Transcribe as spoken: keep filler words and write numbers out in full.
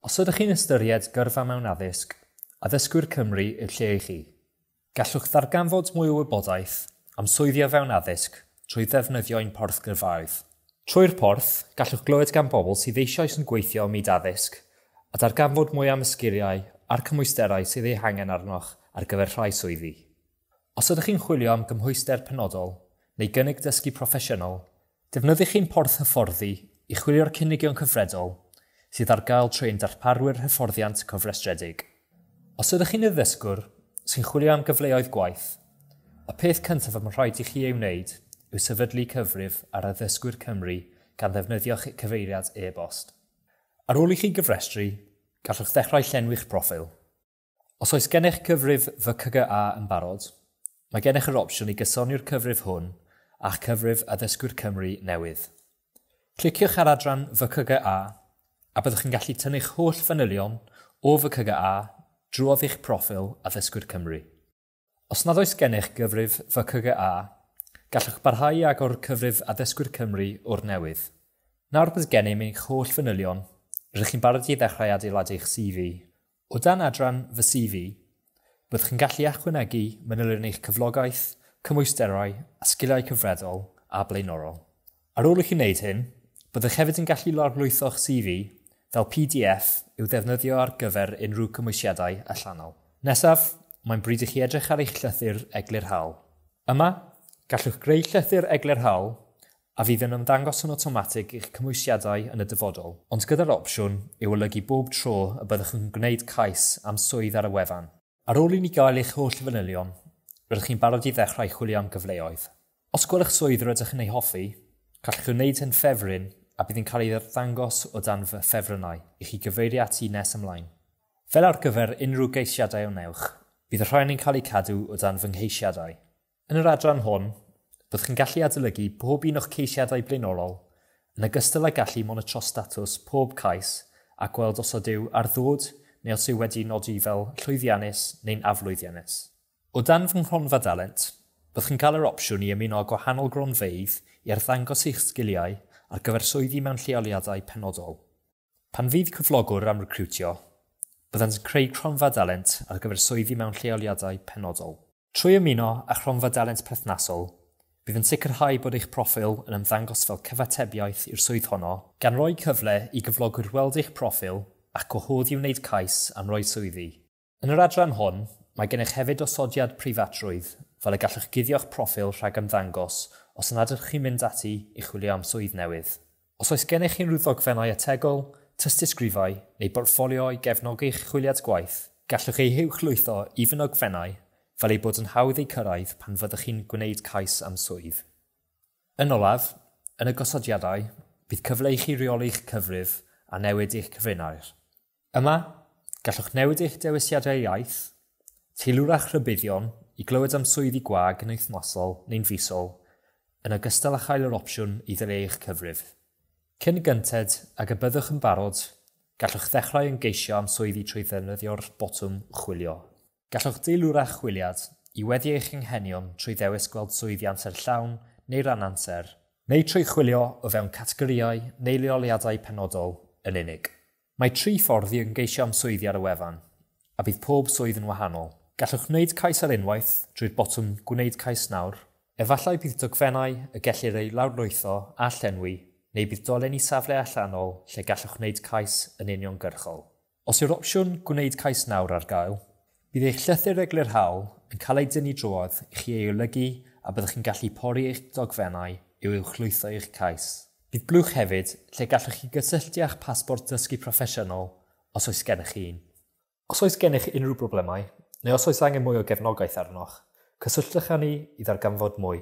Os ydych chi'n ystyried gyrfa mewn addysg, Addysgwyr Cymru yw'r lle i chi. Gallwch ddarganfod mwy o wybodaeth am swyddi o fewn addysg trwy ddefnyddio ein porth gyrfaoedd. Trwy'r porth, gallwch glywed gan bobl sydd eisoes yn gweithio ym myd addysg a darganfod mwy am y sgiliau a'r cymwysterau sydd eu hangen arnoch ar gyfer rhai swyddi. Os ydych chi'n chwilio am gymhwyster penodol neu gynnig dysgu proffesiynol, defnyddiwch ein porth hyfforddi i chwilio'r cynigion cyfredol sydd ar gael trwy ein darparwyr hyfforddiant cofrestredig. Os ydych chi'n addysgwr sy'n chwilio am gyfleoedd gwaith, y peth cyntaf y mae'n rhaid i chi ei wneud yw sefydlu cyfrif ar Addysgwyr Cymru gan ddefnyddio'ch cyfeiriad e-bost. Ar ôl i chi gyfrestru, gallwch ddechrau llenwi'ch proffil. Os oes gennych cyfrif Fy C G A yn barod, mae gennych yr opsiwn i gysoni'r cyfrif hwn a'ch cyfrif Addysgwyr Cymru newydd. Cliciwch ar adran Fy C G A a byddwch chi'n gallu tynnu'ch holl fanylion o Fy C G A drwodd eich proffil Addysgwyr Cymru. Os nad oes gennych gyfrif Fy C G A, gallwch barhau i agor cyfrif Addysgwyr Cymru o'r newydd. Nawr bydd gennym eich holl fanylion, rydych chi'n barod i ddechrau adeiladu eich C V. O dan adran Fy C V, byddwch chi'n gallu ychwanegu manylion eich cyflogaeth, cymwysterau a sgiliau cyfredol a blaenorol. Ar ôl i chi wneud hyn, byddwch hefyd yn gallu lawrlwytho'ch C V fel P D F i'w ddefnyddio ar gyfer unrhyw cymwysiadau allanol. Nesaf, mae'n bryd i chi edrych ar eich llythyr eglurhaol. Yma, gallwch greu llythyr eglurhaol a fydd yn ymddangos yn awtomatig i'ch cymwysiadau yn y dyfodol, ond gyda'r opsiwn i'w olygu bob tro y byddwch yn gwneud cais am swydd ar y wefan. Ar ôl i ni gael eich holl fanylion, rydych chi'n barod i ddechrau chwilio am gyfleoedd. Os gwelwch swydd rydych yn ei hoffi, gallwch wneud hyn ffefryn a bydd yn cael ei ddangos o dan fy ffefrynnau i chi gyfeirio ati nes ymlaen. Fel ar gyfer unrhyw geisiadau o wnewch, bydd y rhain yn cael eu cadw o dan fy ngheisiadau. Yn yr adran hwn, byddwch chi'n gallu adolygu pob un o'ch ceisiadau blaenorol, yn ogystal â gallu monitro statws pob cais a gweld os ydyw ar ddod neu os yw wedi nodi fel llwyddiannus neu'n aflwyddiannus. O dan fy nghronfa dalent, byddwch chi'n cael yr opsiwn i ymuno â gwahanol gronfeydd i arddangos eich sgiliau ar gyfer swyddi mewn lleoliadau penodol. Pan fydd cyflogwr am recriwtio, byddant yn creu cronfa dalent ar gyfer swyddi mewn lleoliadau penodol. Trwy ymuno â chronfa dalent perthnasol, bydd yn sicrhau bod eich proffil yn ymddangos fel cyfatebiaeth i'r swydd honno, gan roi cyfle i gyflogwyr weld eich proffil a'ch gwahodd i wneud cais am roi swyddi. Yn yr adran hon, mae gennych hefyd osodiad preifatrwydd, fel y gallwch guddio'ch proffil rhag ymddangos os nad ydych chi'n mynd ati i chwilio am swydd newydd. Os oes gennych unrhyw ddogfennau ategol, tystysgrifau neu bortffolio i gefnogi'ch chwiliad gwaith, gallwch eu huwchlwytho i fy nogfennau fel ei bod yn hawdd eu cyrraedd pan fyddwch chi'n gwneud cais am swydd. Yn olaf, yn y gosodiadau, bydd cyfle i chi reoli'ch cyfrif a newid eich cyfrinair. Yma, gallwch newid eich dewisiadau iaith, teilwra'ch rhybuddion i glywed am swyddi gwag yn wythnosol neu'n fisol, yn ogystal â chael yr opsiwn i ddileu eich cyfrif. Cyn gynted ag y byddwch yn barod, gallwch ddechrau ymgeisio am swyddi trwy ddefnyddio'r botwm chwilio. Gallwch deilwra'ch chwiliad i weddu eich anghenion trwy ddewis gweld swyddi amser llawn neu ran amser, neu trwy chwilio o fewn categorïau neu leoliadau penodol yn unig. Mae tri ffordd i ymgeisio am swyddi ar y wefan, a bydd pob swydd yn wahanol. Gallwch wneud cais ar unwaith drwy'r botwm Gwneud Cais Nawr. Efallai bydd dogfennau y gellir eu lawrlwytho a llenwi, neu bydd dolen i safle allanol lle gallwch wneud cais yn uniongyrchol. Os yw'r opsiwn Gwneud Cais Nawr ar gael, bydd eich llythyr eglurhaol yn cael ei dynnu drwodd i chi ei olygu a byddwch chi'n gallu pori eich dogfennau i'w uwchlwytho eich cais. Bydd blwch hefyd lle gallwch chi gysylltu â'ch pasbort dysgu proffesiynol os oes gennych chi un. Os oes gennych unrhyw broblemau, neu os oes angen mwy o gefnogaeth arnoch, cysylltwch â ni i ddarganfod mwy.